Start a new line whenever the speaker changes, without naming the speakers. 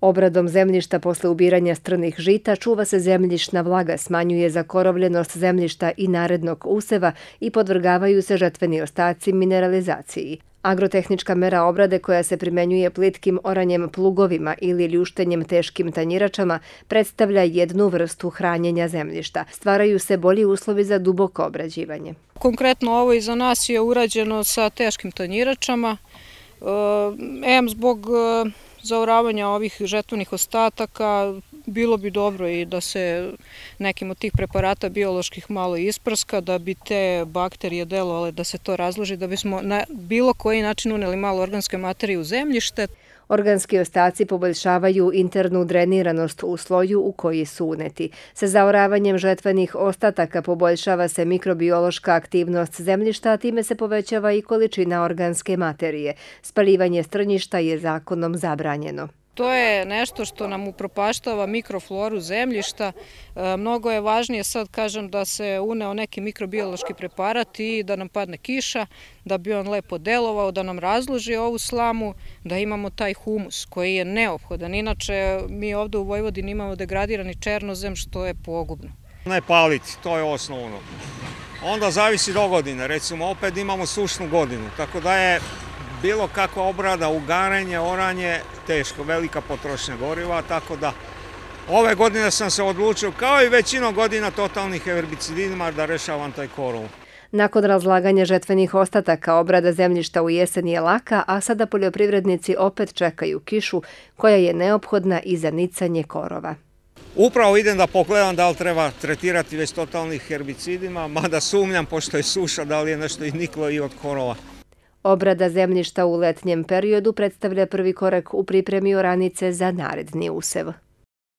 Obradom zemljišta posle ubiranja strnih žita čuva se zemljišna vlaga, smanjuje zakorovljenost zemljišta i narednog useva i podvrgavaju se žetveni ostaci mineralizaciji. Agrotehnička mera obrade koja se primenjuje plitkim oranjem plugovima ili ljuštenjem teškim tanjiračama predstavlja jednu vrstu hranjenja zemljišta. Stvaraju se bolji uslovi za duboko obrađivanje.
Konkretno ovo iza nas je urađeno sa teškim tanjiračama. Zbog zaoravanja ovih žetvenih ostataka bilo bi dobro i da se nekim od tih preparata bioloških malo isprska, da bi te bakterije delovale, da se to razloži, da bismo na bilo koji način uneli malo organske materije u zemljište.
Organski ostaci poboljšavaju internu dreniranost u sloju u koji su uneti. Sa zaoravanjem žetvenih ostataka poboljšava se mikrobiološka aktivnost zemljišta, a time se povećava i količina organske materije. Spaljivanje strnjišta je zakonom zabranjeno.
To je nešto što nam upropaštava mikrofloru zemljišta. Mnogo je važnije sad, kažem, da se uneo neki mikrobiološki preparat i da nam padne kiša, da bi on lepo delovao, da nam razloži ovu slamu, da imamo taj humus koji je neophodan. Inače, mi ovde u Vojvodini imamo degradirani černozem, što je pogubno.
Ne paliti, to je osnovno. Onda zavisi do godine, recimo opet imamo sušnu godinu, tako da je bilo kakva obrada, ugaranje, oranje, teško, velika potrošnja goriva, tako da ove godine sam se odlučio, kao i većinom godina, totalnih herbicidima da rešavam taj korov.
Nakon razlaganja žetvenih ostataka, obrada zemljišta u jesen je laka, a sada poljoprivrednici opet čekaju kišu koja je neophodna i za nicanje korova.
Upravo idem da pogledam da li treba tretirati već totalnih herbicidima, mada sumnjam, pošto je suša, da li je nešto i niklo i od korova.
Obrada zemljišta u letnjem periodu predstavlja prvi korak u pripremi oranice za naredni usev.